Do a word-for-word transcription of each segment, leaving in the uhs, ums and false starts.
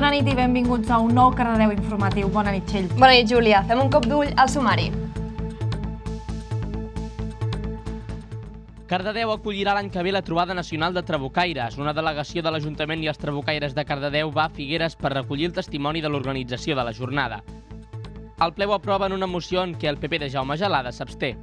Bona nit i benvinguts a un nou Cardedeu informatiu. Bona nit, Txell. Bona nit, Júlia. Fem un cop d'ull al sumari. Cardedeu acollirà l'any que ve la trobada nacional de trabucaires. Una delegació de l'Ajuntament i els trabucaires de Cardedeu va a Figueres per recollir el testimoni de l'organització de la jornada. El ple ho aprova en una moció en què el P P de Jaume Gelada s'absté.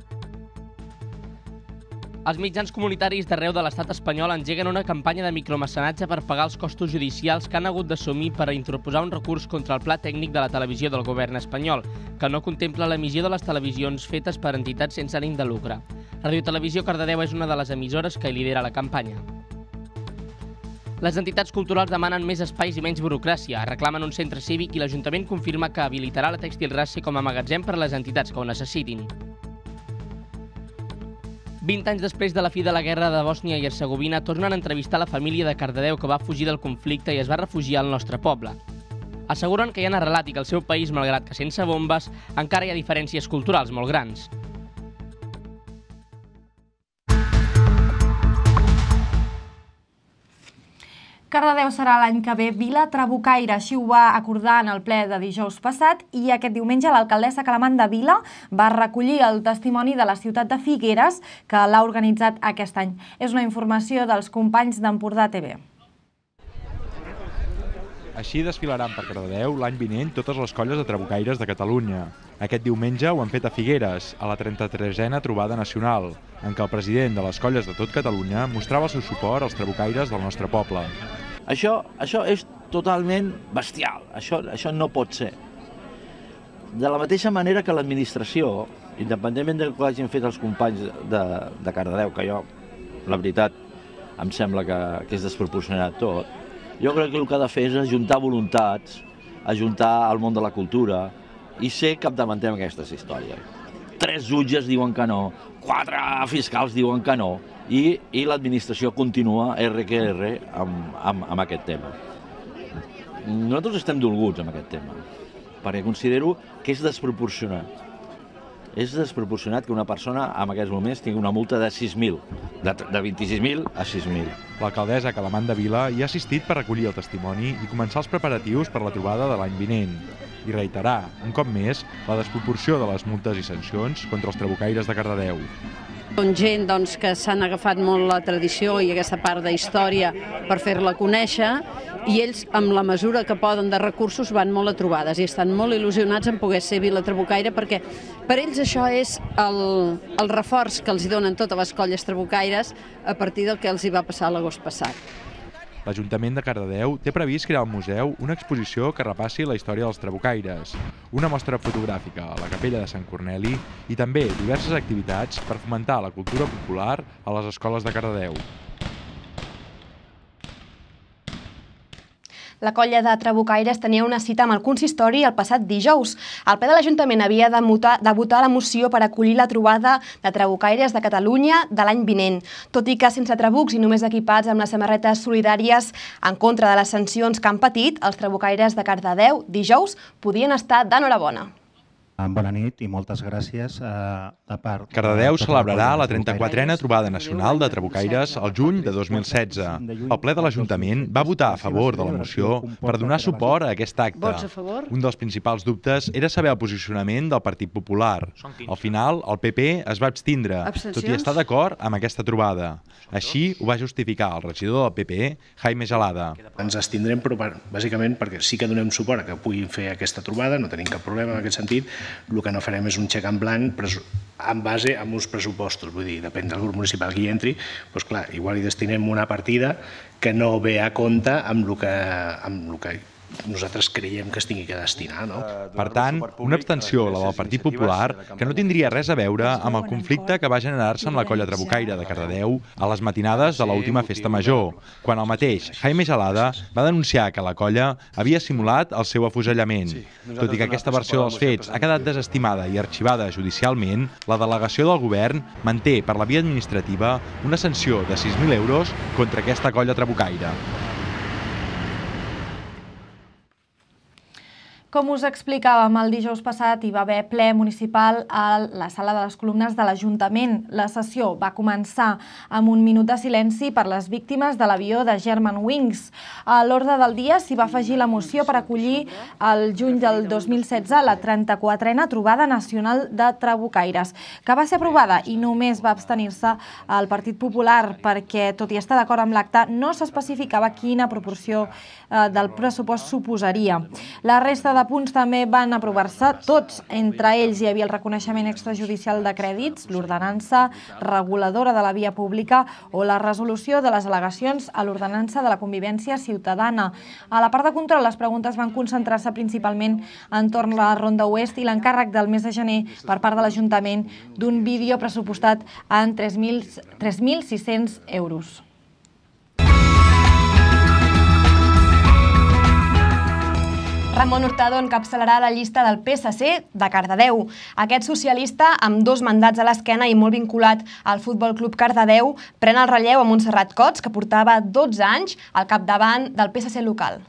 Els mitjans comunitaris d'arreu de l'estat espanyol engeguen una campanya de micromecenatge per pagar els costos judicials que han hagut d'assumir per a interposar un recurs contra el pla tècnic de la televisió del govern espanyol, que no contempla l'emissió de les televisions fetes per entitats sense ànim de lucre. Radio Televisió Cardedeu és una de les emissores que lidera la campanya. Les entitats culturals demanen més espais i menys burocràcia, reclamen un centre cívic i l'Ajuntament confirma que habilitarà la Tèxtil Race com a magatzem per a les entitats que ho necessitin. vint anys després de la fi de la guerra de Bòsnia i Hercegovina, tornen a entrevistar la família de Cardedeu que va fugir del conflicte i es va refugiar al nostre poble. Asseguren que hi han arrelat i que el seu país, malgrat que sense bombes, encara hi ha diferències culturals molt grans. Cardedeu serà l'any que ve Vila Trabucaire, així ho va acordar en el ple de dijous passat, i aquest diumenge l'alcaldessa Calamanda Vila va recollir el testimoni de la ciutat de Figueres, que l'ha organitzat aquest any. És una informació dels companys d'Empordà T V. Així desfilaran per Cardedeu l'any vinent totes les colles de trabucaires de Catalunya. Aquest diumenge ho han fet a Figueres, a la trenta-tresena trobada nacional, en què el president de les colles de tot Catalunya mostrava el seu suport als trabucaires del nostre poble. Això, això és totalment bestial, això, això no pot ser. De la mateixa manera que l'administració, independentment del que hagin fet els companys de, de Cardedeu, que jo, la veritat, em sembla que, que és desproporcionat tot, jo crec que el que ha de fer és ajuntar voluntats, ajuntar el món de la cultura i ser capdavanter en aquestes històries. Tres jutges diuen que no, quatre fiscals diuen que no, i, i l'administració continua erre que erre amb, amb, amb aquest tema. Nosaltres estem dolguts amb aquest tema, perquè considero que és desproporcionat. És desproporcionat que una persona en aquests moments tingui una multa de sis mil, de, de vint-i-sis mil a sis mil. L'alcaldessa Calamanda Vila hi ha assistit per recollir el testimoni i començar els preparatius per la trobada de l'any vinent. I reiterar, un cop més, la desproporció de les multes i sancions contra els trabucaires de Cardedeu. Són gent doncs, que s'han agafat molt la tradició i aquesta part de història per fer-la conèixer, i ells, amb la mesura que poden de recursos, van molt a trobades i estan molt il·lusionats en poder ser Vila Trabucaire, perquè per ells això és el, el reforç que els donen totes les colles trabucaires a partir del que els hi va passar l'agost passat. L'Ajuntament de Cardedeu té previst crear al museu una exposició que repassi la història dels trabucaires, una mostra fotogràfica a la capella de Sant Corneli i també diverses activitats per fomentar la cultura popular a les escoles de Cardedeu. La colla de trabucaires tenia una cita amb el consistori el passat dijous. El ple de l'Ajuntament havia de votar la moció per acollir la trobada de trabucaires de Catalunya de l'any vinent. Tot i que sense trabucs i només equipats amb les samarretes solidàries en contra de les sancions que han patit, els trabucaires de Cardedeu dijous podien estar d'enhorabona. Bona nit i moltes gràcies a part... Cardedeu celebrarà la trenta-quatrena trobada nacional de trabucaires el juny de dos mil setze. El ple de l'Ajuntament va votar a favor de la moció per donar suport a aquest acte. Un dels principals dubtes era saber el posicionament del Partit Popular. Al final, el P P es va abstindre, tot i estar d'acord amb aquesta trobada. Així ho va justificar el regidor del P P, Jaime Gelada. Ens abstindrem, però bàsicament perquè sí que donem suport a que puguin fer aquesta trobada, no tenim cap problema en aquest sentit. El que no farem és un xec en blanc en base a uns pressupostos, vull dir, depèn del grup municipal que hi entri, doncs clar, igual hi destinem una partida que no ve a compte amb el que, amb el que nosaltres creiem que es tingui que destinar. No? Per tant, una abstenció, la del Partit Popular, que no tindria res a veure amb el conflicte que va generar-se amb la colla trabucaire de Cardedeu a les matinades de l'última festa major, quan el mateix Jaime Gelada va denunciar que la colla havia simulat el seu afusellament. Tot i que aquesta versió dels fets ha quedat desestimada i arxivada judicialment, la delegació del govern manté per la via administrativa una sanció de sis mil euros contra aquesta colla trabucaire. Com us explicàvem, el dijous passat hi va haver ple municipal a la sala de les columnes de l'Ajuntament. La sessió va començar amb un minut de silenci per les víctimes de l'avió de Germanwings. A l'ordre del dia s'hi va afegir la moció per acollir el juny del dos mil setze la trenta-quatrena trobada nacional de trabucaires, que va ser aprovada i només va abstenir-se el Partit Popular perquè, tot i estar d'acord amb l'acte, no s'especificava quina proporció del pressupost suposaria. La resta de punts també van aprovar-se tots. Entre ells hi havia el reconeixement extrajudicial de crèdits, l'ordenança reguladora de la via pública o la resolució de les al·legacions a l'ordenança de la convivència ciutadana. A la part de control, les preguntes van concentrar-se principalment entorn a la Ronda Oest i l'encàrrec del mes de gener per part de l'Ajuntament d'un vídeo pressupostat en tres mil sis-cents euros. Ramon Hurtado encapçalarà la llista del P S C de Cardedeu. Aquest socialista, amb dos mandats a l'esquena i molt vinculat al Futbol Club Cardedeu, pren el relleu a Montserrat Cots, que portava dotze anys al capdavant del P S C local.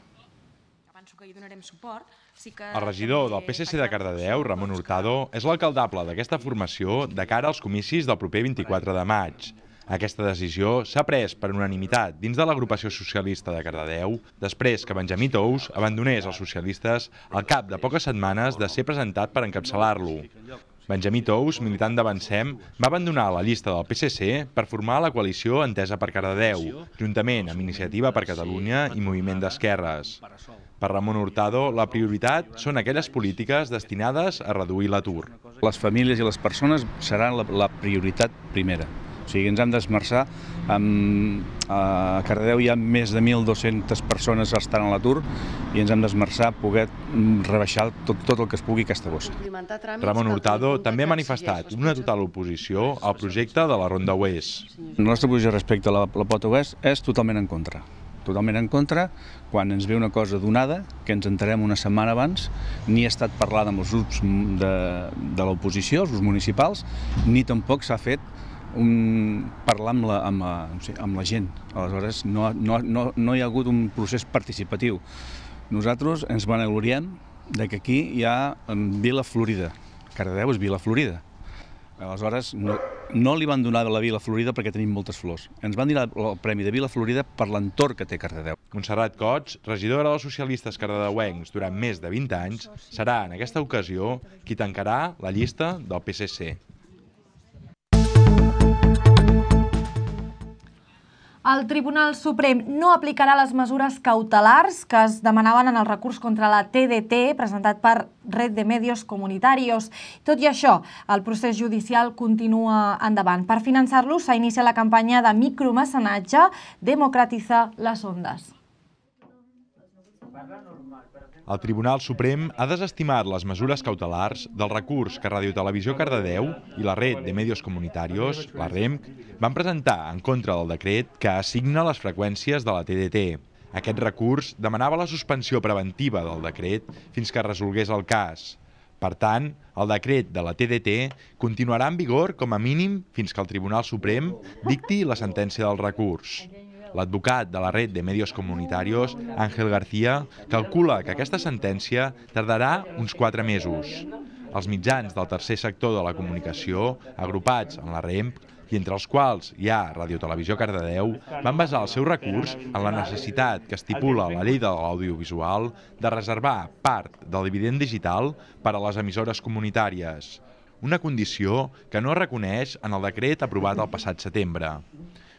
El regidor del P S C de Cardedeu, Ramon Hurtado, és l'alcaldable d'aquesta formació de cara als comicis del proper vint-i-quatre de maig. Aquesta decisió s'ha pres per unanimitat dins de l'agrupació socialista de Cardedeu després que Benjamí Tous abandonés els socialistes al cap de poques setmanes de ser presentat per encapçalar-lo. Benjamí Tous, militant d'Avancem, va abandonar la llista del P S C per formar la coalició Entesa per Cardedeu, juntament amb Iniciativa per Catalunya i Moviment d'Esquerres. Per Ramon Hurtado, la prioritat són aquelles polítiques destinades a reduir l'atur. Les famílies i les persones seran la prioritat primera. O sigui, ens hem d'esmerçar. A Cardedeu hi ha més de mil dues-centes persones que estan a l'atur i ens hem d'esmerçar a poder rebaixar tot el que es pugui aquesta bossa. Ramon Hurtado també ha manifestat una total oposició al projecte de la Ronda Oest. La nostra posició respecte a la Pota Oest és totalment en contra. Totalment en contra, quan ens ve una cosa donada, que ens enterem una setmana abans, ni ha estat parlada amb els grups de l'oposició, els grups municipals, ni tampoc s'ha fet Un, parlar amb la, amb, la, amb la gent. Aleshores, no, no, no, no hi ha hagut un procés participatiu. Nosaltres ens vanagloriem que aquí hi ha Vila Florida. Cardedeu és Vila Florida. Aleshores, no, no li van donar la Vila Florida perquè tenim moltes flors. Ens van donar el premi de Vila Florida per l'entorn que té Cardedeu. Montserrat Cots, regidora dels socialistes cardedeuencs durant més de vint anys, serà en aquesta ocasió qui tancarà la llista del P S C. El Tribunal Suprem no aplicarà les mesures cautelars que es demanaven en el recurs contra la T D T presentat per Red de Medios Comunitarios. Tot i això, el procés judicial continua endavant. Per finançar-lo s'ha iniciat la campanya de micromecenatge Democratiza las Ondas. El Tribunal Suprem ha desestimat les mesures cautelars del recurs que Radio Televisió Cardedeu i la Red de Medios Comunitarios, la R E M C, van presentar en contra del decret que assigna les freqüències de la T D T. Aquest recurs demanava la suspensió preventiva del decret fins que resolgués el cas. Per tant, el decret de la T D T continuarà en vigor com a mínim fins que el Tribunal Suprem dicti la sentència del recurs. L'advocat de la Red de Medios Comunitarios, Ángel García, calcula que aquesta sentència tardarà uns quatre mesos. Els mitjans del tercer sector de la comunicació, agrupats en la R E M C, i entre els quals hi ha Radio Televisió Cardedeu, van basar el seu recurs en la necessitat que estipula la llei de l'audiovisual de reservar part del dividend digital per a les emissores comunitàries, una condició que no es reconeix en el decret aprovat el passat setembre.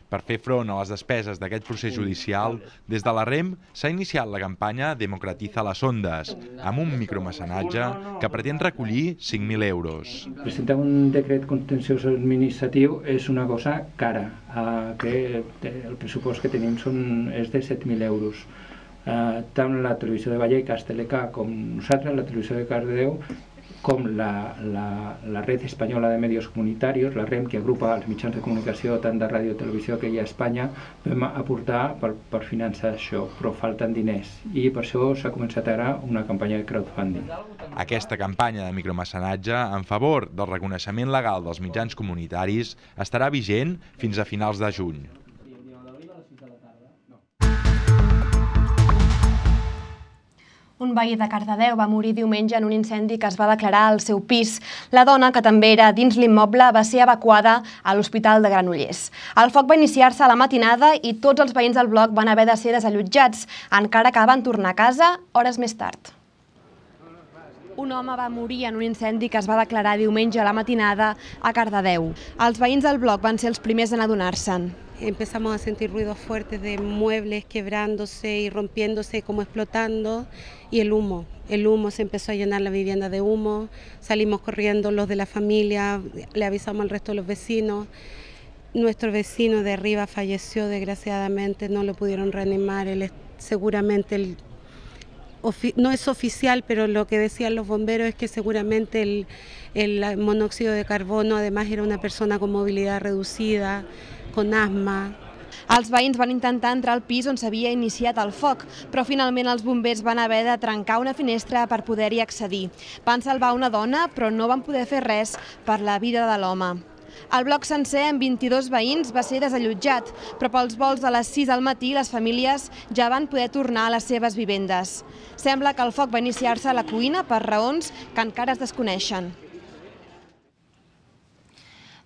Per fer front a les despeses d'aquest procés judicial, des de la R E M s'ha iniciat la campanya Democratiza las Ondas, amb un micromecenatge que pretén recollir cinc mil euros. Presentar un decret contenciós administratiu és una cosa cara, que el pressupost que tenim és de set mil euros. Tant la televisió de Vallecas, Teleca, com nosaltres, la televisió de Cardedeu, com la, la, la Red Espanyola de Medios Comunitarios, la R E M, que agrupa els mitjans de comunicació tant de ràdio i televisió que hi ha a Espanya, vam aportar per, per finançar això, però falten diners i per això s'ha començat ara una campanya de crowdfunding. Aquesta campanya de micromecenatge en favor del reconeixement legal dels mitjans comunitaris estarà vigent fins a finals de juny. Un veí de Cardedeu va morir diumenge en un incendi que es va declarar al seu pis. La dona, que també era dins l'immoble, va ser evacuada a l'Hospital de Granollers. El foc va iniciar-se a la matinada i tots els veïns del bloc van haver de ser desallotjats, encara que van tornar a casa hores més tard. Un home va morir en un incendi que es va declarar diumenge a la matinada a Cardedeu. Els veïns del bloc van ser els primers en adonar-se'n. Empezamos a sentir ruidos fuertes de muebles quebrándose y rompiéndose, como explotando, y el humo. El humo se empezó a llenar la vivienda de humo, salimos corriendo los de la familia, le avisamos al resto de los vecinos. Nuestro vecino de arriba falleció, desgraciadamente, no lo pudieron reanimar, él es seguramente el... no es oficial, pero lo que decían los bomberos es que seguramente el, el monóxido de carbono además era una persona con movilidad reducida, con asma. Els veïns van intentar entrar al pis on s'havia iniciat el foc, però finalment els bombers van haver de trencar una finestra per poder-hi accedir. Van salvar una dona, però no van poder fer res per la vida de l'home. El bloc sencer, amb vint-i-dos veïns, va ser desallotjat, però pels vols de les sis del matí les famílies ja van poder tornar a les seves vivendes. Sembla que el foc va iniciar-se a la cuina per raons que encara es desconeixen.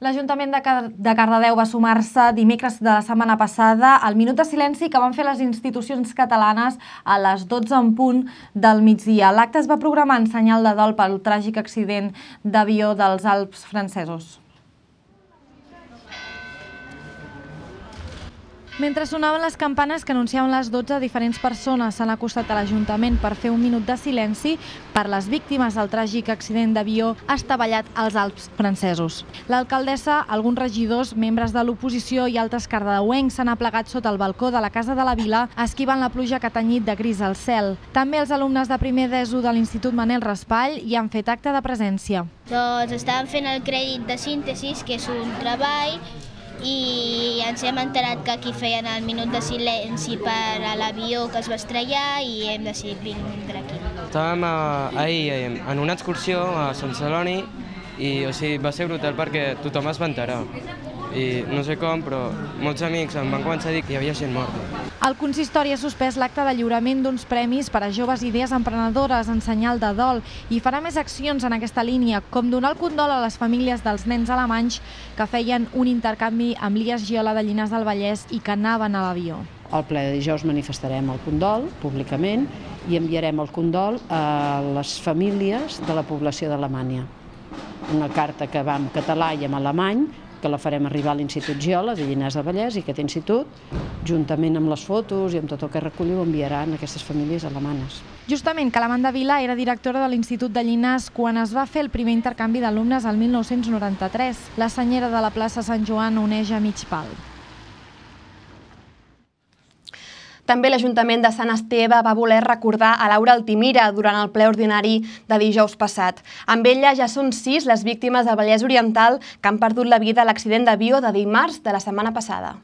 L'Ajuntament de Cardedeu va sumar-se dimecres de la setmana passada al minut de silenci que van fer les institucions catalanes a les dotze en punt del migdia. L'acte es va programar en senyal de dol pel tràgic accident d'avió dels Alps francesos. Mentre sonaven les campanes que anunciaven les dotze, diferents persones s'han acostat a l'Ajuntament per fer un minut de silenci per les víctimes del tràgic accident d'avió estavellat als Alps francesos. L'alcaldessa, alguns regidors, membres de l'oposició i altres cardedeuencs s'han aplegat sota el balcó de la Casa de la Vila, esquivant la pluja que ha tenyit de gris al cel. També els alumnes de primer d'ESO de l'Institut Manel Raspall hi han fet acte de presència. Doncs estàvem fent el crèdit de síntesi, que és un treball, i ens hem enterat que aquí feien el minut de silenci per a l'avió que es va estrellar i hem decidit vindre aquí. Estàvem ahir en una excursió a Sant Celoni i va ser brutal perquè tothom es va enterar. I no sé com, però molts amics em van començar a dir que hi havia gent morta. El consistori ha suspès l'acte de lliurament d'uns premis per a joves idees emprenedores en senyal de dol i farà més accions en aquesta línia, com donar el condol a les famílies dels nens alemanys que feien un intercanvi amb l'I A S Giola de Llinars del Vallès i que anaven a l'avió. Al ple de dijous manifestarem el condol públicament i enviarem el condol a les famílies de la població d'Alemanya. Una carta que va en català i en alemany, que la farem arribar a l'Institut Giola de Llinars del Vallès i aquest institut, juntament amb les fotos i amb tot el que recolliu, enviaran a aquestes famílies alemanes. Justament, Calamanda Vila era directora de l'Institut de Llinars quan es va fer el primer intercanvi d'alumnes al mil nou-cents noranta-tres. La senyera de la plaça Sant Joan uneix a mig pal. També l'Ajuntament de Sant Esteve va voler recordar a Laura Altimira durant el ple ordinari de dijous passat. Amb ella ja són sis les víctimes del Vallès Oriental que han perdut la vida a l'accident d'avió de dimarts de la setmana passada.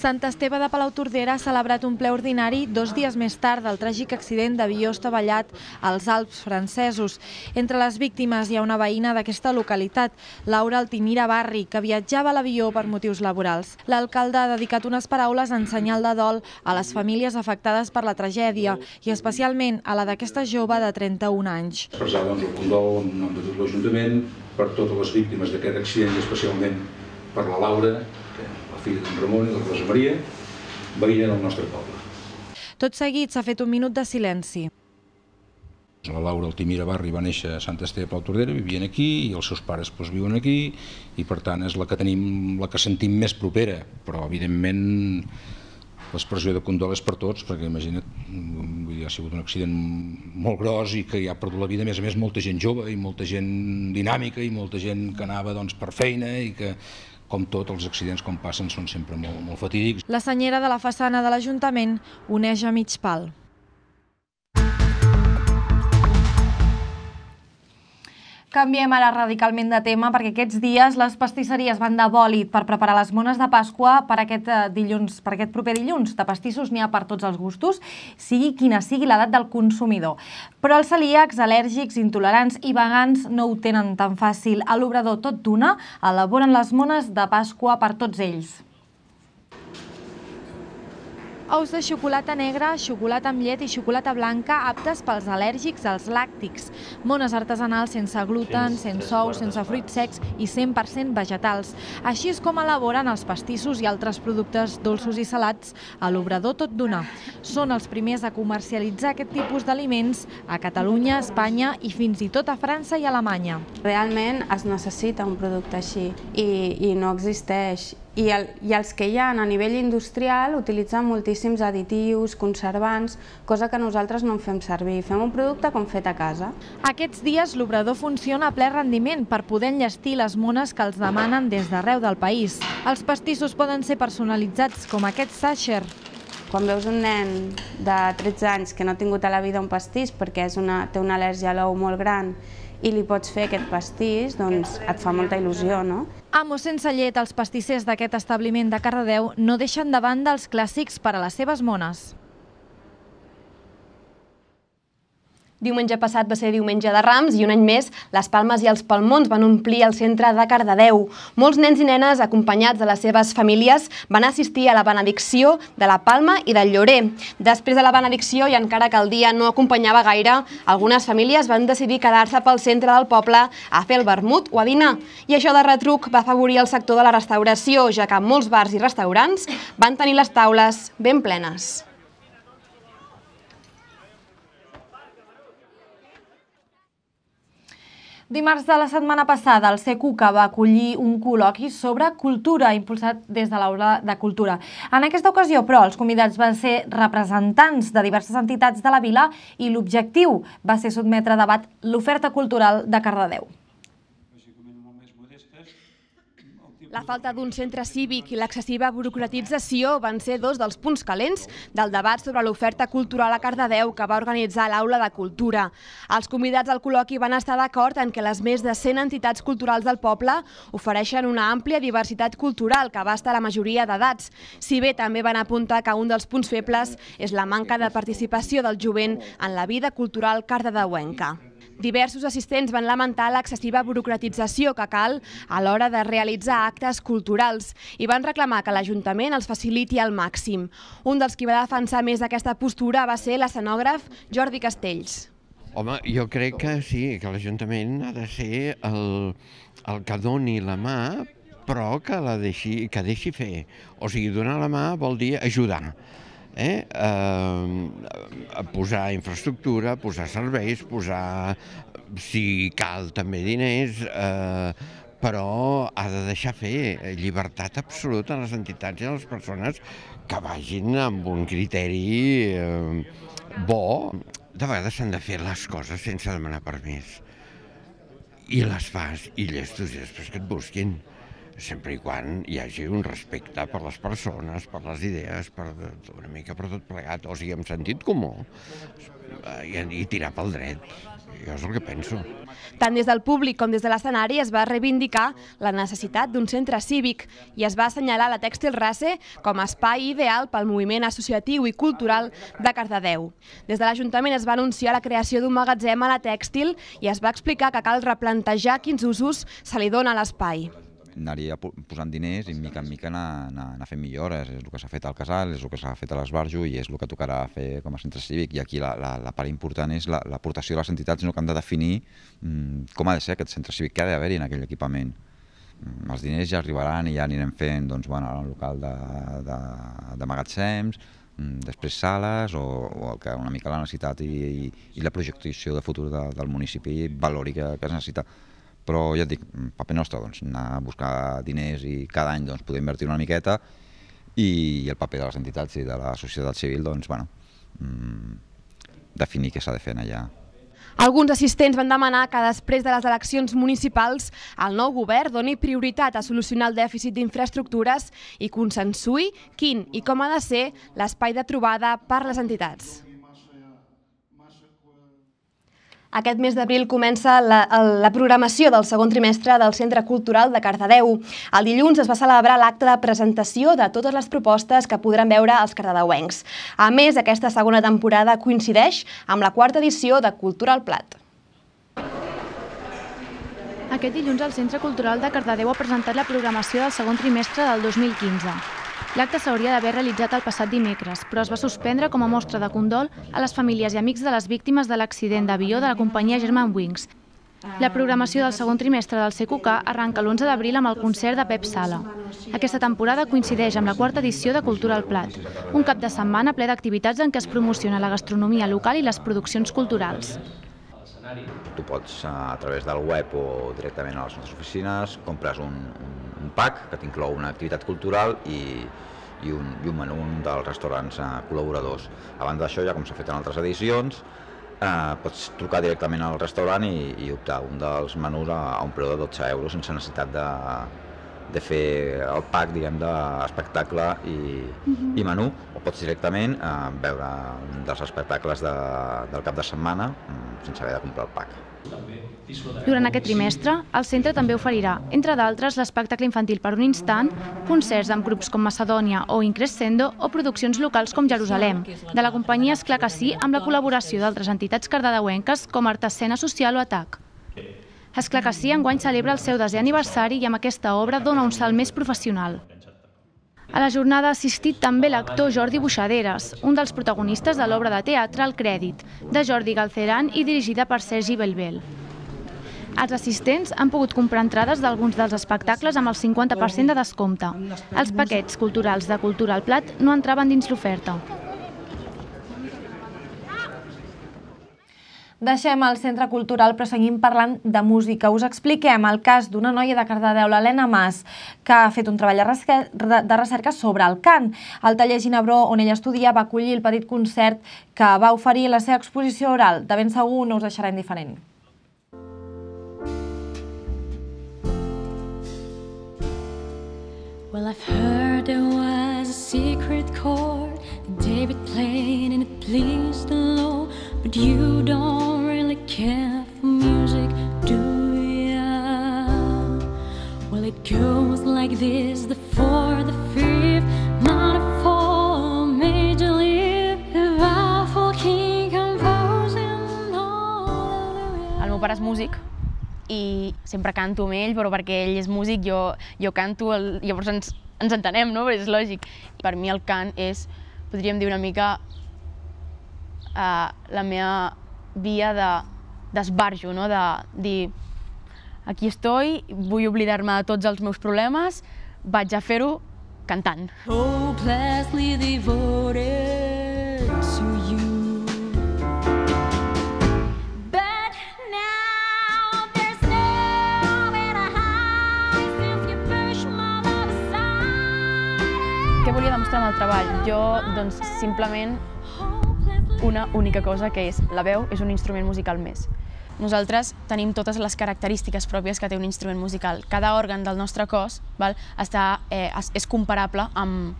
Sant Esteve de Palautordera ha celebrat un ple ordinari dos dies més tard del tràgic accident d'avió estavellat als Alps francesos. Entre les víctimes hi ha una veïna d'aquesta localitat, Laura Altimira Barri, que viatjava a l'avió per motius laborals. L'alcalde ha dedicat unes paraules en senyal de dol a les famílies afectades per la tragèdia i especialment a la d'aquesta jove de trenta-un anys. Expressar doncs, el condol en nom de tot l'Ajuntament per totes les víctimes d'aquest accident i especialment per la Laura, la filla d'en Ramon i de la Rosa Maria, veïna del nostre poble. Tot seguit s'ha fet un minut de silenci. La Laura Altimira Barri va néixer a Sant Esteve de Palautordera, vivien aquí i els seus pares doncs, viuen aquí i per tant és la que tenim, la que sentim més propera, però evidentment l'expressió de condol és per tots, perquè imagina't, ha sigut un accident molt gros i que hi ha perdut la vida, a més a més, molta gent jove i molta gent dinàmica i molta gent que anava doncs, per feina i que, com tots els accidents com passen, són sempre molt, molt fatídics. La senyera de la façana de l'Ajuntament uneix a mig pal. Canviem ara radicalment de tema perquè aquests dies les pastisseries van de bòlit per preparar les mones de Pasqua per aquest dilluns, per aquest proper dilluns. De pastissos n'hi ha per tots els gustos, sigui quina sigui l'edat del consumidor. Però els celíacs, al·lèrgics, intolerants i vegans no ho tenen tan fàcil. A l'obrador Tot d'Una elaboren les mones de Pasqua per tots ells. Ous de xocolata negra, xocolata amb llet i xocolata blanca aptes pels al·lèrgics als làctics. Mones artesanals sense gluten, sense ous, sense fruits secs i cent per cent vegetals. Així és com elaboren els pastissos i altres productes dolços i salats a l'Obrador Tot Donar. Són els primers a comercialitzar aquest tipus d'aliments a Catalunya, Espanya i fins i tot a França i Alemanya. Realment es necessita un producte així i, i no existeix. I, el, I els que hi ha a nivell industrial utilitzen moltíssims additius, conservants, cosa que nosaltres no en fem servir. Fem un producte com fet a casa. Aquests dies l'obrador funciona a ple rendiment per poder enllestir les mones que els demanen des d'arreu del país. Els pastissos poden ser personalitzats com aquest Sacher. Quan veus un nen de tretze anys que no ha tingut a la vida un pastís perquè és una, té una al·lèrgia a l'ou molt gran i li pots fer aquest pastís, doncs et fa molta il·lusió, no? Amo sense llet, els pastissers d'aquest establiment de Cardedeu no deixen de banda els clàssics per a les seves mones. Diumenge passat va ser diumenge de Rams i un any més les palmes i els palmons van omplir el centre de Cardedeu. Molts nens i nenes acompanyats de les seves famílies van assistir a la benedicció de la palma i del llorer. Després de la benedicció i encara que el dia no acompanyava gaire, algunes famílies van decidir quedar-se pel centre del poble a fer el vermut o a dinar. I això de retruc va afavorir el sector de la restauració, ja que molts bars i restaurants van tenir les taules ben plenes. Dimarts de la setmana passada, el CECUCA va acollir un col·loqui sobre cultura impulsat des de l'Aula de Cultura. En aquesta ocasió, però, els convidats van ser representants de diverses entitats de la vila i l'objectiu va ser sotmetre a debat l'oferta cultural de Cardedeu. La falta d'un centre cívic i l'excessiva burocratització van ser dos dels punts calents del debat sobre l'oferta cultural a Cardedeu que va organitzar l'Aula de Cultura. Els convidats al col·loqui van estar d'acord en que les més de cent entitats culturals del poble ofereixen una àmplia diversitat cultural que abasta la majoria d'edats. Si bé també van apuntar que un dels punts febles és la manca de participació del jovent en la vida cultural cardedeuenca. Diversos assistents van lamentar l'excessiva burocratització que cal a l'hora de realitzar actes culturals i van reclamar que l'Ajuntament els faciliti al màxim. Un dels qui va defensar més aquesta postura va ser l'escenògraf Jordi Castells. Home, jo crec que sí, que l'Ajuntament ha de ser el, el que doni la mà, però que la deixi, que deixi fer. O sigui, donar la mà vol dir ajudar. Eh? Eh, posar infraestructura, posar serveis, posar, si cal, també diners, eh, però ha de deixar fer llibertat absoluta a les entitats i a les persones que vagin amb un criteri eh, bo. De vegades s'han de fer les coses sense demanar permís. I les fas, i llestos, i després que et busquin. Sempre i quan hi hagi un respecte per les persones, per les idees, per una mica per tot plegat, o sigui, amb sentit comú, i, i tirar pel dret. Jo és el que penso. Tant des del públic com des de l'escenari es va reivindicar la necessitat d'un centre cívic i es va assenyalar la Tèxtil Race com a espai ideal pel moviment associatiu i cultural de Cardedeu. Des de l'Ajuntament es va anunciar la creació d'un magatzem a la tèxtil i es va explicar que cal replantejar quins usos se li dona a l'espai. Anaria posant diners i mica en mica anar, anar, anar fent millores. És el que s'ha fet al Casal, és el que s'ha fet a l'Esbarjo i és el que tocarà fer com a centre cívic. I aquí la, la, la part important és l'aportació de les entitats, no, que han de definir mm, com ha de ser aquest centre cívic, que ha d'haver-hi en aquell equipament. Mm, els diners ja arribaran i ja anirem fent doncs, bueno, un local de, de, de magatzems, mm, després sales o, o el que una mica la necessitat i, i, i la projecció de futur de, del municipi valori que, que es necessita. Però ja et dic, paper nostre, doncs, anar a buscar diners i cada any doncs, poder invertir una miqueta i el paper de les entitats i de la societat civil, doncs, bueno, definir què s'ha de fer allà. Alguns assistents van demanar que després de les eleccions municipals el nou govern doni prioritat a solucionar el dèficit d'infraestructures i consensuï quin i com ha de ser l'espai de trobada per les entitats. Aquest mes d'abril comença la, la programació del segon trimestre del Centre Cultural de Cardedeu. El dilluns es va celebrar l'acte de presentació de totes les propostes que podran veure els cardedeuencs. A més, aquesta segona temporada coincideix amb la quarta edició de Cultura al Plat. Aquest dilluns el Centre Cultural de Cardedeu ha presentat la programació del segon trimestre del dos mil quinze. L'acte s'hauria d'haver realitzat el passat dimecres, però es va suspendre com a mostra de condol a les famílies i amics de les víctimes de l'accident d'avió de la companyia Germanwings. La programació del segon trimestre del C Q K arranca l'onze d'abril amb el concert de Pep Sala. Aquesta temporada coincideix amb la quarta edició de Cultura al Plat, un cap de setmana ple d'activitats en què es promociona la gastronomia local i les produccions culturals. Tu pots, a través del web o directament a les nostres oficines, compres un, un pack que t'inclou una activitat cultural i, i, un, i un menú dels restaurants col·laboradors. A banda d'això, ja com s'ha fet en altres edicions, eh, pots trucar directament al restaurant i, i optar un dels menús a, a un preu de dotze euros sense necessitat de, de fer el pack, diguem, d'espectacle i, uh-huh. i menú, o pots directament eh, veure un dels espectacles de, del cap de setmana sense haver de comprar el pack. Durant aquest trimestre, el centre també oferirà, entre d'altres, l'espectacle infantil per un instant, concerts amb grups com Macedònia o Increscendo o produccions locals com Jerusalem, de la companyia Esclar que sí, amb la col·laboració d'altres entitats cardedeuenques com Artescena Social o Atac. Esclar que sí enguany celebra el seu desè aniversari i amb aquesta obra dona un salt més professional. A la jornada ha assistit també l'actor Jordi Buixaderes, un dels protagonistes de l'obra de teatre El Crèdit, de Jordi Galceran i dirigida per Sergi Bellbel. Els assistents han pogut comprar entrades d'alguns dels espectacles amb el cinquanta per cent de descompte. Els paquets culturals de Cultura al Plat no entraven dins l'oferta. Deixem el centre cultural però seguim parlant de música. Us expliquem el cas d'una noia de Cardedeu, l'Helena Mas, que ha fet un treball de recerca sobre el cant. El taller Ginebró, on ella estudia, va acollir el petit concert que va oferir la seva exposició oral. De ben segur no us deixarà indiferent. Well, I've heard there was a secret chord that David played and it pleased the Lord, but you don't really care for music, do ya? Well, it goes like this, the fourth, the fifth, minor four, major lift, the baffled king composing hallelujah. El meu pare és músic i sempre canto amb ell, però perquè ell és músic, jo, jo canto, el, llavors ens, ens entenem, no? Però és lògic. Per mi el cant és, podríem dir una mica, uh, la meva via d'esbarjo, no? De dir, aquí estoy, vull oblidar-me de tots els meus problemes, vaig a fer-ho cantant. Hopelessly devoted to you. Què volia demostrar amb el treball? Jo, doncs, simplement una única cosa, que és la veu és un instrument musical més. Nosaltres tenim totes les característiques pròpies que té un instrument musical. Cada òrgan del nostre cos, val, està, eh, és comparable amb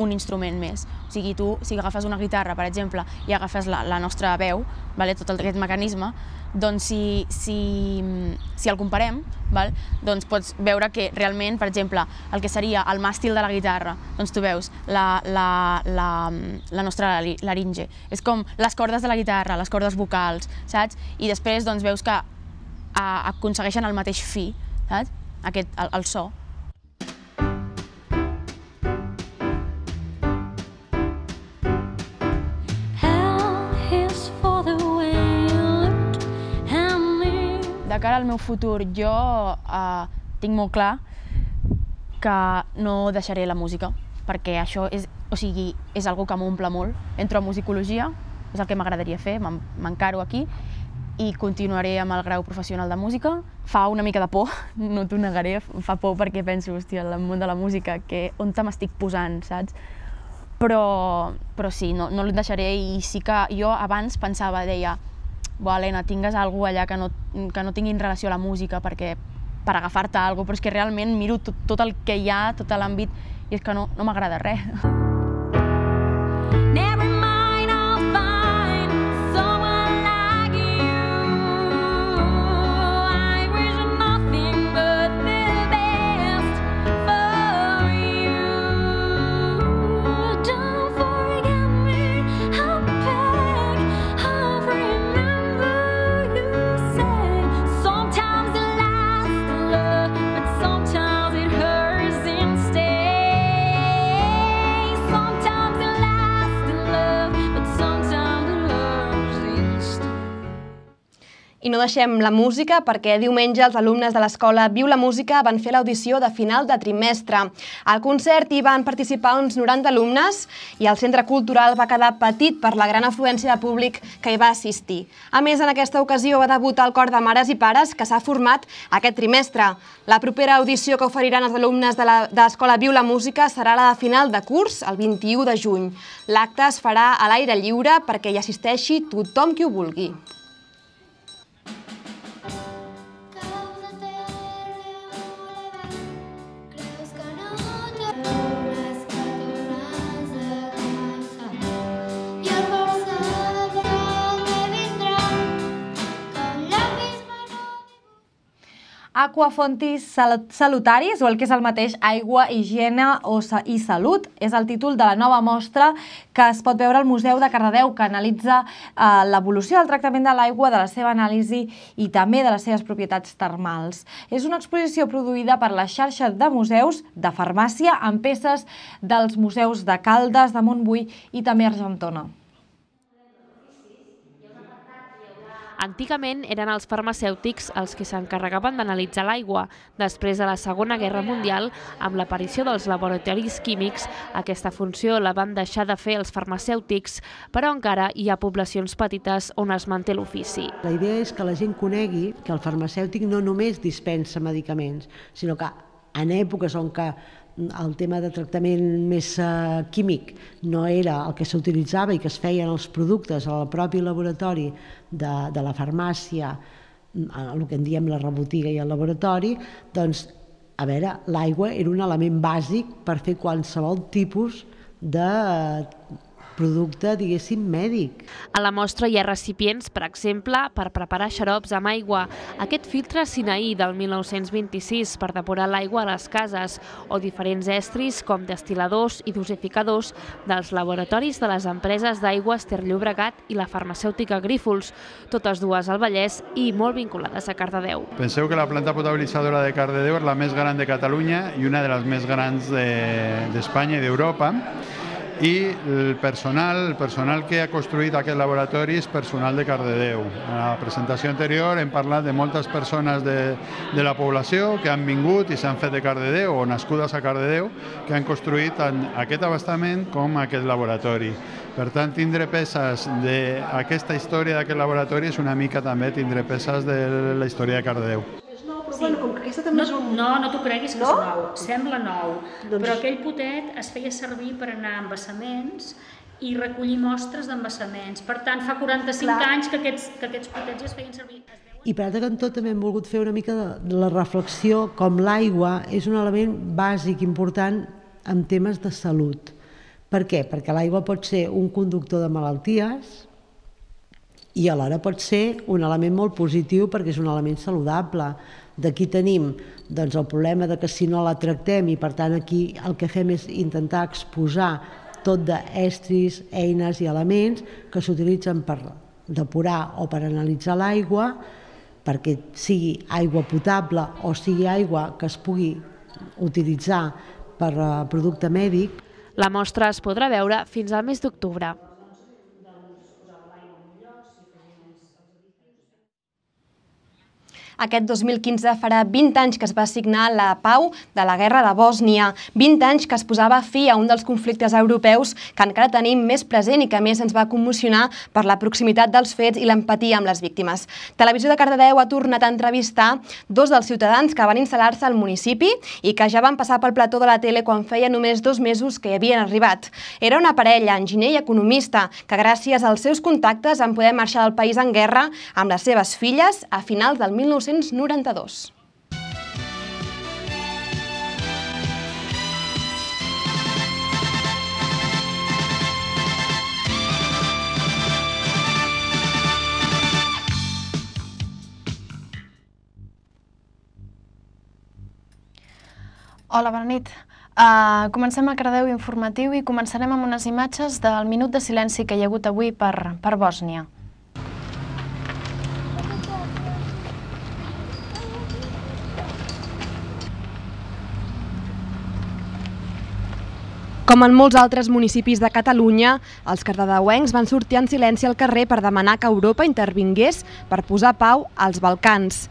un instrument més. O sigui, tu, si agafes una guitarra, per exemple, i agafes la, la nostra veu, vale, tot aquest mecanisme, doncs si, si, si el comparem, val, doncs pots veure que realment, per exemple, el que seria el màstil de la guitarra, doncs tu veus la, la, la, la nostra laringe. És com les cordes de la guitarra, les cordes vocals, saps? I després doncs, veus que a, aconsegueixen el mateix fi, saps? Aquest, el, el so. De cara al meu futur, jo eh, tinc molt clar que no deixaré la música, perquè això és, o sigui, és algo que m'omple molt. Entro a musicologia, és el que m'agradaria fer, m'encaro aquí, i continuaré amb el grau professional de música. Fa una mica de por, no t'ho negaré, fa por perquè penso, hòstia, el món de la música, que on te m'estic posant, saps? Però, però sí, no, no el deixaré, i sí que jo abans pensava, deia, bo, Helena, tingues alguna cosa allà que no, que no tinguin relació a la música perquè, per agafar-te alguna cosa, però és que realment miro tot, tot el que hi ha, tot l'àmbit, i és que no, no m'agrada res. I no deixem la música perquè diumenge els alumnes de l'escola Viu la Música van fer l'audició de final de trimestre. Al concert hi van participar uns noranta alumnes i el centre cultural va quedar petit per la gran afluència de públic que hi va assistir. A més, en aquesta ocasió va debutar el cor de mares i pares que s'ha format aquest trimestre. La propera audició que oferiran els alumnes de l'escola Viu la Música serà la de final de curs, el vint-i-u de juny. L'acte es farà a l'aire lliure perquè hi assisteixi tothom qui ho vulgui. Aquafontis salutaris, o el que és el mateix, aigua, higiene i salut, és el títol de la nova mostra que es pot veure al Museu de Cardedeu, que analitza l'evolució del tractament de l'aigua, de la seva anàlisi i també de les seves propietats termals. És una exposició produïda per la xarxa de museus de farmàcia amb peces dels museus de Caldes, de Montbui i també Argentona. Antigament eren els farmacèutics els que s'encarregaven d'analitzar l'aigua. Després de la Segona Guerra Mundial, amb l'aparició dels laboratoris químics, aquesta funció la van deixar de fer els farmacèutics, però encara hi ha poblacions petites on es manté l'ofici. La idea és que la gent conegui que el farmacèutic no només dispensa medicaments, sinó que en èpoques on que el tema de tractament més químic no era el que s'utilitzava i que es feien els productes al propi laboratori de la farmàcia, el que en diem la rebotiga i el laboratori, doncs, a veure, l'aigua era un element bàsic per fer qualsevol tipus de producte, diguéssim, mèdic. A la mostra hi ha recipients, per exemple, per preparar xarops amb aigua, aquest filtre Sinaí del mil nou-cents vint-i-sis per depurar l'aigua a les cases, o diferents estris com destil·ladors i dosificadors dels laboratoris de les empreses d'aigües Ter Llobregat i la farmacèutica Grífols, totes dues al Vallès i molt vinculades a Cardedeu. Penseu que la planta potabilitzadora de Cardedeu és la més gran de Catalunya i una de les més grans d'Espanya i d'Europa. I el personal, el personal que ha construït aquest laboratori és personal de Cardedeu. A la presentació anterior hem parlat de moltes persones de, de la població que han vingut i s'han fet de Cardedeu o nascudes a Cardedeu, que han construït tant aquest abastament com aquest laboratori. Per tant, tindre peces d'aquesta història d'aquest laboratori és una mica també tindre peces de la història de Cardedeu. Sí. Com que aquesta també és un... No, no t'ho creguis que és nou, sembla nou, però aquell potet es feia servir per anar a embassaments i recollir mostres d'embassaments. Per tant, fa quaranta-cinc anys que aquests potets ja es feien servir. I per altre cantó també hem volgut fer una mica de la reflexió com l'aigua és un element bàsic important en temes de salut. Per què? Perquè l'aigua pot ser un conductor de malalties i alhora pot ser un element molt positiu perquè és un element saludable. D'aquí tenim doncs, el problema de que si no la tractem i per tant aquí el que fem és intentar exposar tot d'estris, eines i elements que s'utilitzen per depurar o per analitzar l'aigua perquè sigui aigua potable o sigui aigua que es pugui utilitzar per producte mèdic. La mostra es podrà veure fins al mes d'octubre. Aquest dos mil quinze farà vint anys que es va signar la pau de la Guerra de Bòsnia, vint anys que es posava fi a un dels conflictes europeus que encara tenim més present i que més ens va commocionar per la proximitat dels fets i l'empatia amb les víctimes. Televisió de Cardedeu ha tornat a entrevistar dos dels ciutadans que van instal·lar-se al municipi i que ja van passar pel plató de la tele quan feia només dos mesos que hi havien arribat. Era una parella, enginyer i economista, que gràcies als seus contactes van poder marxar del país en guerra amb les seves filles a finals del mil nou-cents noranta-dos. Hola, bona nit. Uh, comencem el Cardedeu informatiu i començarem amb unes imatges del minut de silenci que hi ha hagut avui per, per Bòsnia. Com en molts altres municipis de Catalunya, els cardedeuencs van sortir en silenci al carrer per demanar que Europa intervingués per posar pau als Balcans.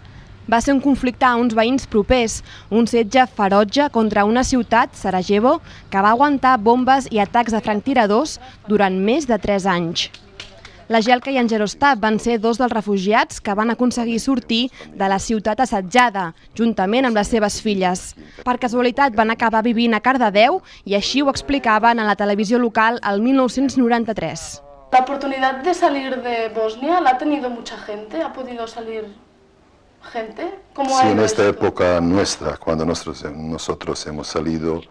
Va ser un conflicte a uns veïns propers, un setge ferotge contra una ciutat, Sarajevo, que va aguantar bombes i atacs de franctiradors durant més de tres anys. La Jelka i en Jaroslav van ser dos dels refugiats que van aconseguir sortir de la ciutat assetjada, juntament amb les seves filles. Per casualitat van acabar vivint a Cardedeu i així ho explicaven a la televisió local el mil nou-cents noranta-tres. La oportunidad de salir de Bosnia la ha tenido mucha gente, ha podido salir gente. ¿Cómo Sí, ha en ido esta esto? época nuestra, cuando nosotros, nosotros hemos salido,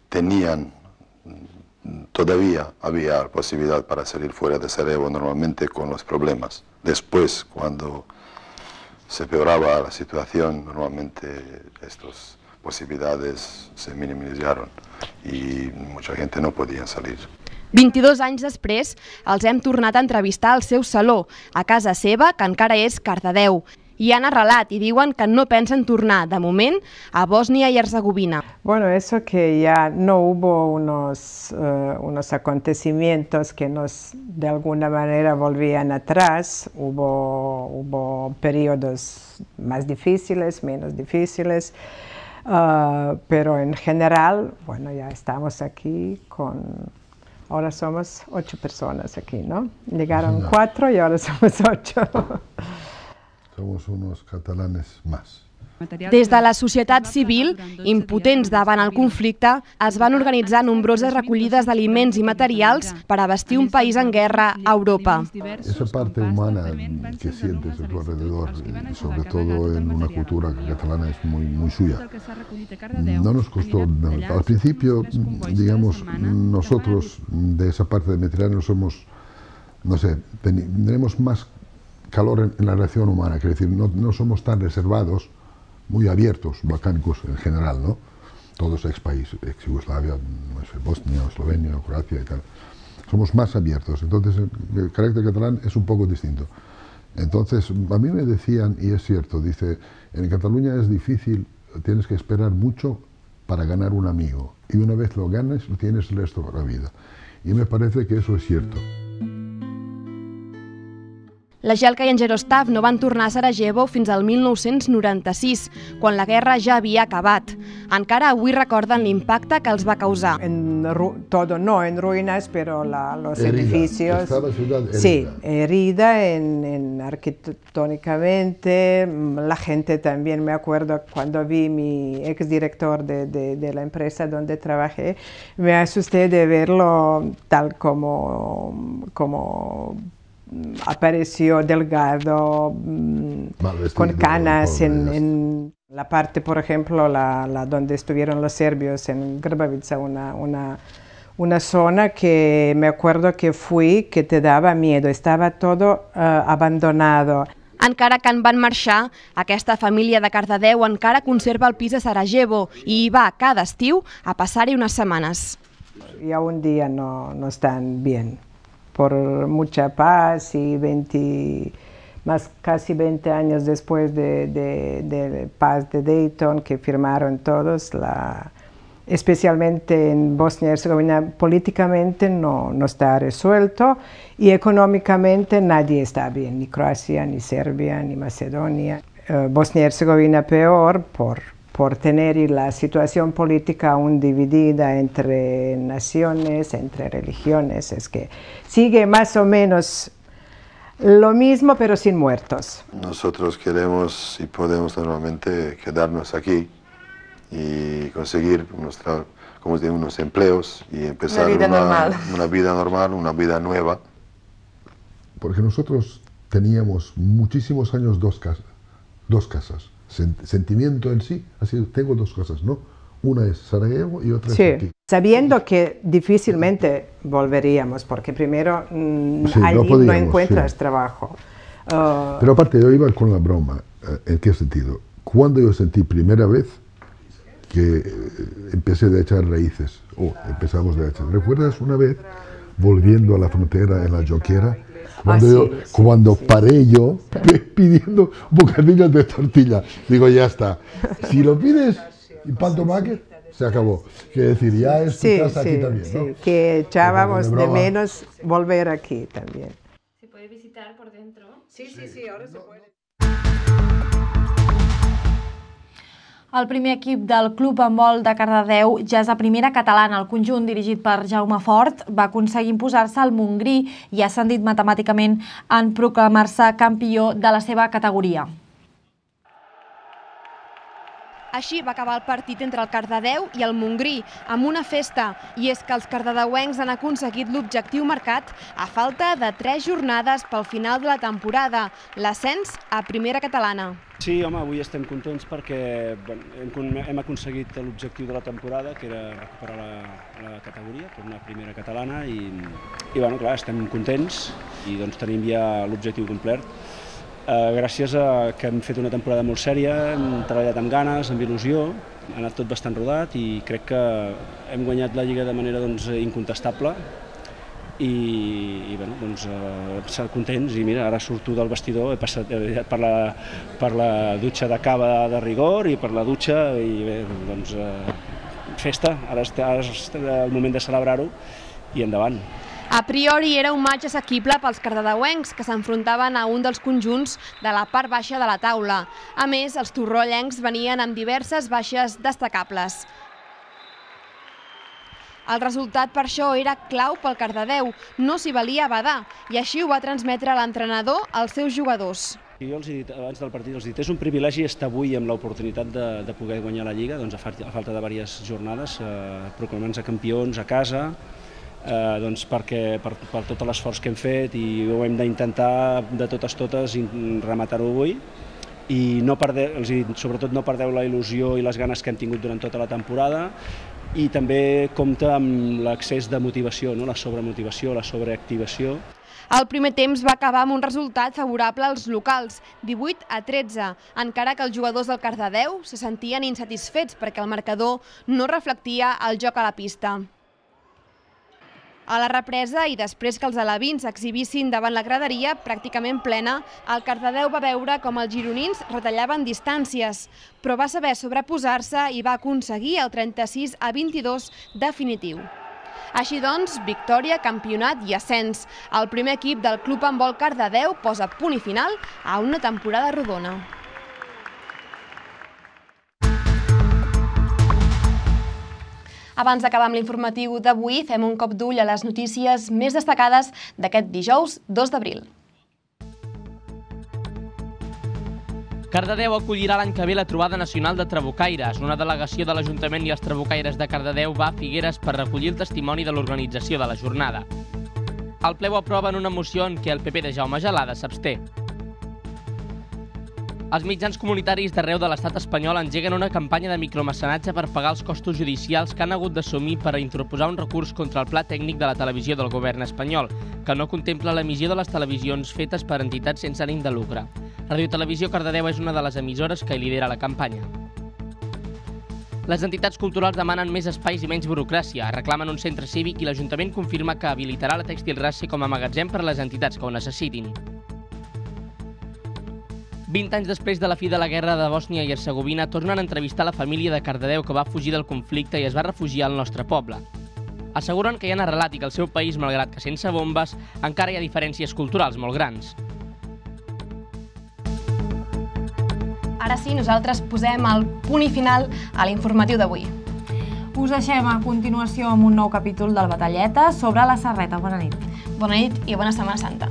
tenían, todavía había posibilidad para salir fuera de Sarajevo normalmente con los problemas. Después, cuando se peoraba la situación, normalmente estas posibilidades se minimizaron y mucha gente no podía salir. vint-i-dos anys després, els hem tornat a entrevistar al seu saló, a casa seva, que encara és Cardedeu. I han arrelat i diuen que no pensen tornar, de moment, a Bòsnia i Herzegovina. Bueno, eso que ya no hubo unos, uh, unos acontecimientos que nos de alguna manera volvían atrás, hubo, hubo periodos más difíciles, menos difíciles, uh, pero en general, bueno, ya estamos aquí con... Ahora somos ocho personas aquí, ¿no? Llegaron No. cuatro y ahora somos ocho. Somos unos catalanes más. Des de la societat civil, impotents davant el conflicte, es van organitzar nombroses recollides d'aliments i materials per abastir un país en guerra a Europa. Esa parte humana que sientes a tu alrededor, y sobre todo en una cultura catalana es muy, muy suya. No nos costó, no. Al principio, digamos, nosotros de esa parte del Mediterráneo somos, no sé, tenemos más calor en, en la relación humana, quiero decir, no, no somos tan reservados, muy abiertos, balcánicos en general, ¿no? Todos ex país, ex Yugoslavia, no sé, Bosnia, Eslovenia, Croacia y tal. Somos más abiertos, entonces el carácter catalán es un poco distinto. Entonces, a mí me decían, y es cierto, dice, en Cataluña es difícil, tienes que esperar mucho para ganar un amigo, y una vez lo ganas, lo tienes el resto de la vida. Y me parece que eso es cierto. La Jelka i en Jaroslav no van tornar a Sarajevo fins al mil nou-cents noranta-sis, quan la guerra ja havia acabat. Encara avui recorden l'impacte que els va causar. En todo, no en ruinas, pero la, los Herida. edificios... Estaba ciudad herida. Sí, herida en, en arquitectónicamente. La gente también, me acuerdo cuando vi mi exdirector de, de, de la empresa donde trabajé, me asusté de verlo tal como... como apareció delgado, vestido, con canas en, en la parte, por ejemplo, la, la donde estuvieron los serbios, en Grbavica, una, una, una zona que me acuerdo que fui, que te daba miedo, estaba todo uh, abandonado. Encara que en van marxar, aquesta família de Cardedeu encara conserva el pis a Sarajevo i hi va cada estiu a passar-hi unes setmanes. Y a un día no, no están bien. Por mucha paz y veinte, más casi veinte años después de, de, de paz de Dayton que firmaron todos, la, especialmente en Bosnia y Herzegovina, políticamente no, no está resuelto y económicamente nadie está bien, ni Croacia, ni Serbia, ni Macedonia. Uh, Bosnia y Herzegovina peor por por tener la situación política aún dividida entre naciones, entre religiones, es que sigue más o menos lo mismo pero sin muertos. Nosotros queremos, si podemos normalmente, quedarnos aquí y conseguir unos, como digo, unos empleos y empezar una vida, una, normal. una vida normal, una vida nueva. Porque nosotros teníamos muchísimos años dos casas, dos casas. Sentimiento en sí, así tengo dos cosas, ¿no? Una es Sarajevo y otra sí, es aquí. Sabiendo que difícilmente volveríamos, porque primero mmm, sí, allí no, podíamos, no encuentras sí. trabajo. Uh, Pero aparte, yo iba con la broma. ¿En qué sentido? Cuando yo sentí primera vez que empecé a echar raíces, o oh, empezamos a echar. ¿Recuerdas una vez, volviendo a la frontera en la Joquera? Cuando, ah, sí, yo, sí, cuando sí, paré sí. yo pidiendo bocadillos de tortilla, digo, ya está. Si lo pides, ¿y pan tomate? se acabó. Quiere decir, ya es tu casa aquí también, ¿no? Sí, que echábamos de menos volver aquí también. ¿Se puede visitar por dentro? Sí, sí, sí, ahora se puede. El primer equip del Club Handbol de Cardedeu ja és a primera catalana. El conjunt, dirigit per Jaume Fort, va aconseguir imposar-se al Montgrí i ha ascendit matemàticament en proclamar-se campió de la seva categoria. Així va acabar el partit entre el Cardedeu i el Montgrí, amb una festa, i és que els cardedeuencs han aconseguit l'objectiu marcat a falta de tres jornades pel final de la temporada, l'ascens a primera catalana. Sí, home, avui estem contents perquè hem aconseguit l'objectiu de la temporada, que era recuperar la categoria, tornar a primera catalana, i, bueno, clar, estem contents i doncs tenim ja l'objectiu complert. Gràcies a que hem fet una temporada molt sèria, hem treballat amb ganes, amb il·lusió, ha anat tot bastant rodat i crec que hem guanyat la Lliga de manera incontestable i ser contents. I mira, ara surto del vestidor, he passat per la dutxa de cava de rigor i per la dutxa i bé, doncs festa, ara és el moment de celebrar-ho i endavant. A priori era un matx assequible pels cardedeuencs, que s'enfrontaven a un dels conjunts de la part baixa de la taula. A més, els torrollencs venien amb diverses baixes destacables. El resultat per això era clau pel Cardedeu, no s'hi valia badar, i així ho va transmetre l'entrenador als seus jugadors. Jo els he dit, abans del partit, els he dit, és un privilegi estar avui amb l'oportunitat de poder guanyar la Lliga, a falta de diverses jornades, proclamant-se campions a casa, per tot l'esforç que hem fet i ho hem d'intentar de totes totes rematar-ho avui i sobretot no perdeu la il·lusió i les ganes que hem tingut durant tota la temporada i també compta amb l'excés de motivació, la sobremotivació, la sobreactivació. El primer temps va acabar amb un resultat favorable als locals, divuit a tretze, encara que els jugadors del Cardedeu se sentien insatisfets perquè el marcador no reflectia el joc a la pista. A la represa i després que els alevins exhibissin davant la graderia pràcticament plena, el Cardedeu va veure com els gironins retallaven distàncies, però va saber sobreposar-se i va aconseguir el trenta-sis a vint-i-dos definitiu. Així doncs, victòria, campionat i ascens. El primer equip del Club Handbol Cardedeu posa punt i final a una temporada rodona. Abans d'acabar amb l'informatiu d'avui, fem un cop d'ull a les notícies més destacades d'aquest dijous dos d'abril. Cardedeu acollirà l'any que ve la trobada nacional de trabucaires. Una delegació de l'Ajuntament i els trabucaires de Cardedeu va a Figueres per recollir el testimoni de l'organització de la jornada. El ple ho aprova en una moció en què el P P de Jaume Gelada s'absté. Els mitjans comunitaris d'arreu de l'estat espanyol engeguen una campanya de micromecenatge per pagar els costos judicials que han hagut d'assumir per a interposar un recurs contra el pla tècnic de la televisió del govern espanyol, que no contempla l'emissió de les televisions fetes per entitats sense ànim de lucre. Radio Televisió Cardedeu és una de les emissores que lidera la campanya. Les entitats culturals demanen més espais i menys burocràcia, reclamen un centre cívic i l'Ajuntament confirma que habilitarà la Tèxtil Rassi com a magatzem per a les entitats que ho necessitin. vint anys després de la fi de la guerra de Bòsnia i Hercegovina, tornen a entrevistar la família de Cardedeu que va fugir del conflicte i es va refugiar al nostre poble. Asseguren que hi han arrelat i que el seu país, malgrat que sense bombes, encara hi ha diferències culturals molt grans. Ara sí, nosaltres posem el punt i final a l'informatiu d'avui. Us deixem a continuació amb un nou capítol del Batalleta sobre la Serreta. Bona nit. Bona nit i bona Setmana Santa.